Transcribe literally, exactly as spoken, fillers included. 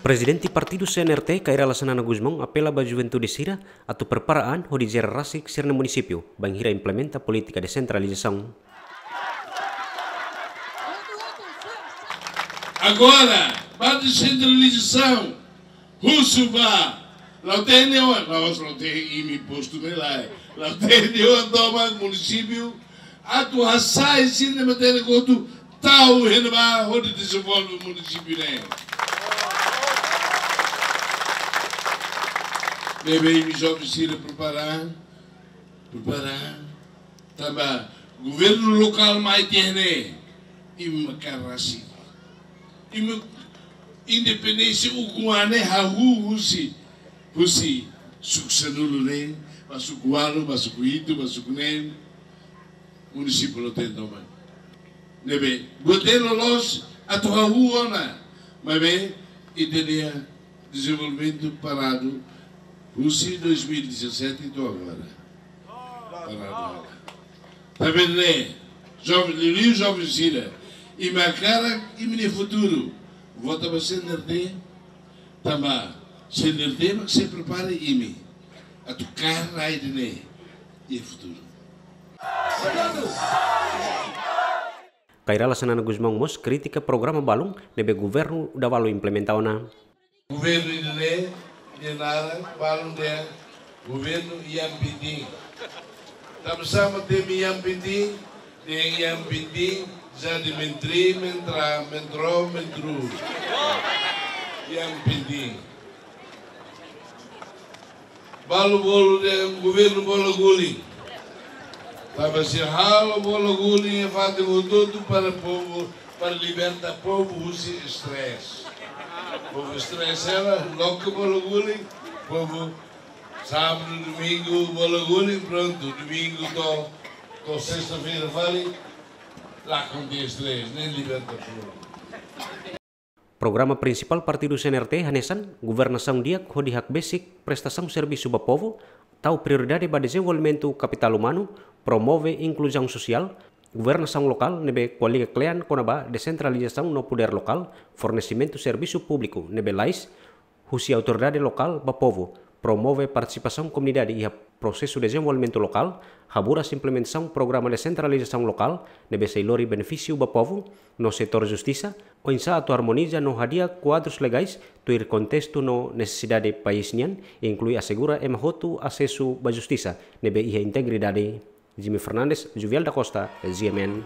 Prezidente Partidu C N R T, Kay Rala Xanana Gusmão, apela ba juventude sira atu prepara an hodi jere rasik sira-nia munisípiu, bainhira implementa polítika desentralizasaun. Agora, ba desentralizasaun, husu ba, la'ós de'it, la'ós de'it imi postu ne'e lae, la'ós de'it tomak munisípiu, atu hasai sira-nia matéria kotu, tau iha ne'ebá hodi dezenvolve munisípiu ne'e. Ne'ebé imi joven sira prepara, prepara. Tanba governu lokál mai tiha ne'e, imi maka rasik. Imi independénsia ukun an ne'e hahú husi, husi suku sanulu ne'e, ba suku ualu, ba suku hitu, ba suku neen. Munisípiu la'ós de'it tomak. Ne'ebé, buat ne'e loloos atu hahú ona, maibé ita-nia dezenvolvimentu paradu husi dois mil e dezassete to'o agora. Paradu ona. Tanba ne'e, joven, liuliu joven sira, imi hakarak imi-nia futuru, vota ba C N R T, tanba C N R T mak sei prepara imi atu kaer rai ida-ne'e iha futuru. Kay Rala Xanana Gusmão mós kritika programa balun ne'ebé governu Davalu implementa ona. Governu ida-ne'e, nia naran balun dehan governu Ian Pintin. Tanba sá mak temi Ian Pintin, dehan Ian Pintin jadi menteri, mentra, mentro, mentru. Ian Pintin. Balu bolu dehan governu bola guling. Tanba sira halo bola guling iha fatin hotu-hotu para povu, para liberta povu husi stress. Povu stress hela, loke bola guling, povu sábadu, domingu, bola guling, prontu, domingu to'o, to'o sesta-feira fali, lakon tiha stress, ne'e liberta povu. Programa prinsipál Partidu C N R T hanesan governasaun di'ak hodi hakbesik prestasaun servisu ba povu, tau prioridade ba dezenvolvimentu kapitál umanu, promove inkluzaun sosiál, governasaun lokál ne'ebé ko'alia kle'an kona-ba desentralizasaun no podér lokál, fornesimentu servisu públiku ne'ebé lalais husi autoridade lokál ba povu, promove partisipasaun komunidade iha prosesu dezenvolvimentu lokál, haburas implementasaun programa desentralizasaun lokál ne'ebé sei lori benefísiu ba povu, no setór justisa, oinsá atu armoniza no hadi'a kuadrus legais tuir kontestu no nesesidade país nian, inklui asegura ema hotu asesu ba justisa ne'ebé iha integridade. Jimmy Fernandes, Juviel da Costa, G M N.